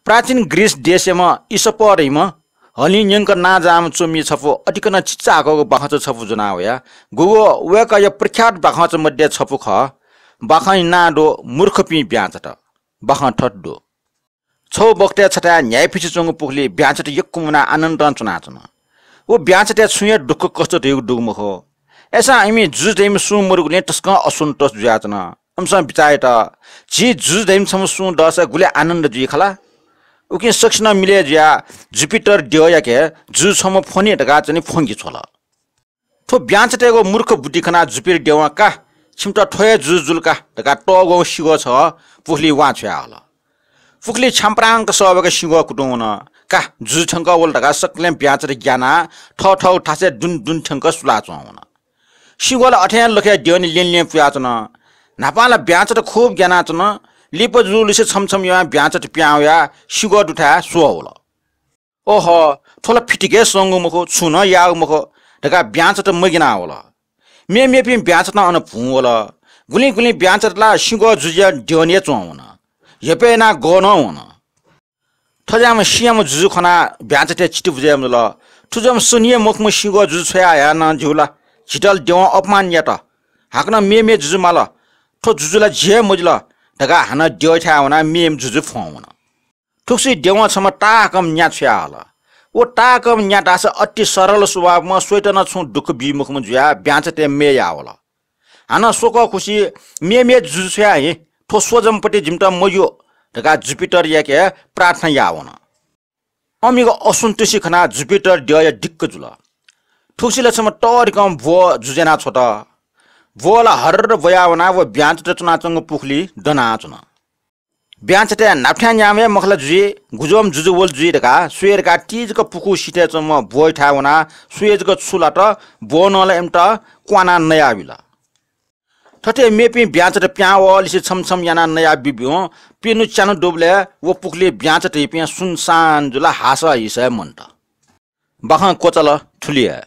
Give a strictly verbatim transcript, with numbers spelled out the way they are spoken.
प्राचीन ग्रीस देशय्म्ह इसप धइम्ह हलिं न्यंक नांजाःम्ह च्वमि छपु अतिकनं चिचाकःगु बाखंचा छपु ज्वना वया। गुगु वय्कःया प्रख्यात बाखंचा मध्ये छपु खः। बाखंया नां दु मूर्खपिं ब्यांचात। बाखं थथे दु। छगू बखतय् छथाय् न्ह्याइपुसे च्वंगु पुखुलिइ ब्यांचात यक्व मुनाः आनन्दं च्वनाच्वन। व ब्यांचातय् छुं हे दुःख कष्ट धइगु दुगु मखु। अय्सां इमि जुजु धइम्ह सुं मदुगुलिं तसकं असन्तोष जुयाच्वन। इमिसं बिचाः यात, झी जुजु धइम्ह छम्ह सुं दःसा गुलि आनन्द जुइ खला। उकिं सकसिनं मिलय् जुयाः जुपिटर द्यःयाके जुजु छम्ह फ्वने धकाः च्वने फ्वंके छ्वल। थ्व ब्यांचातय्गु मूर्ख बुद्धि खनाः जुपिटर द्यवं का, छिमित थ्व हे जुजु जुल का धकाः तःग्वःगु सिंग्वः छगः पुखुलिइ वां छ्वयाहल। पुखुलिइ छ्याम्प्रांक सःवय्क सिंग्वः कुतुं वन। का, जुजु थ्यंक वल धकाः सकलें ब्यांचात ग्यानाः थःथःगु थासय् दुन दुन थ्यंक सुलाच्वं वन। सिंग्वः ला अथे हे लखय् द्यःने ल्यं ल्यं पुयाच्वन। न्हापां ला ब्यांचात खुब ग्यानाच्वन। लिपा जुजुलिसे छम्ह छम्ह यानाः ब्यांचात पिहां वयाः सिंग्वः दुथाय् स्वः वल। ओहो, थ्व ला फितिकय् संगु मखु, छुं नं याःगु मखु धकाः ब्यांचात मग्यानाः वल। मेमेपिं ब्यांचातं अन भुं वल। गुलिं गुलिं ब्यांचात ला सिंग्वः जुजुया द्यःने हे च्वं वन। हेपय् यानाः गः नं वन। थज्याःम्ह सिंयाम्ह जुजु खनाः ब्यांचातय् चित्त बुझे मजुल। थुज्याःम्ह सनि हे मखुम्ह सिंग्वः जुजु छ्वया हयाः नं ज्यू ला, झीत ला द्यवं अपमान यात। हाकनं मेमे जुजु माल। थ्व जुजु ला जि हे मजिल धकाः हानं द्यःथाय् वनाः मेमे जुजु फ्वं वन। थुगुसी द्यवं छम्ह ताःहाकःम्ह न्या छ्वयाहल। व ताःहाकःम्ह न्या धाःसा अति सरल स्वभावम्ह, स्वयात नं छुं दुःख बी मखुम्ह जुयाः ब्यांचातय् मयः याः वल। हानं स्वकः खुसि मेमे जुजु छ्वयाः हि, थ्व स्वजम्पति जिमित मज्यू धकाः जुपिटरयाके प्रार्थना याः वन। अमिगु असन्तुष्टि खनाः जुपिटर द्यःया दिक्क जुल। थुगुसी ला छम्ह तःधिकं ब्वः जुजु याना छ्वत। ब्वः ला हर्र ब्वयाः वनाः व ब्यांचात च्वनाच्वंगु पुखुलिइ दनाच्वन। ब्यांचातय् न्हापाथ्यां न्याम्ह हे मखु ला जुइ, गुज्वःम्ह जुजु वल जुइ धकाः स्वये धकाः ति जक पुखू सिथय् च्वंम्ह ब्वःयाथाय् वनाः स्वये जक छु लात, ब्वलं ला इमित क्वानाः नयाबिल। थथे मेपिं ब्यांचात पिहां वःलिसे छम्ह छम्ह यानाः नयाबिब्यूगु प्यन्हु च्यान्हु दुबलय् व पुखुलिइ ब्यांचात धइपिं सुनसान जुल, हासः हिसः हे मन्त। बाखं क्वचाल थुलि हे।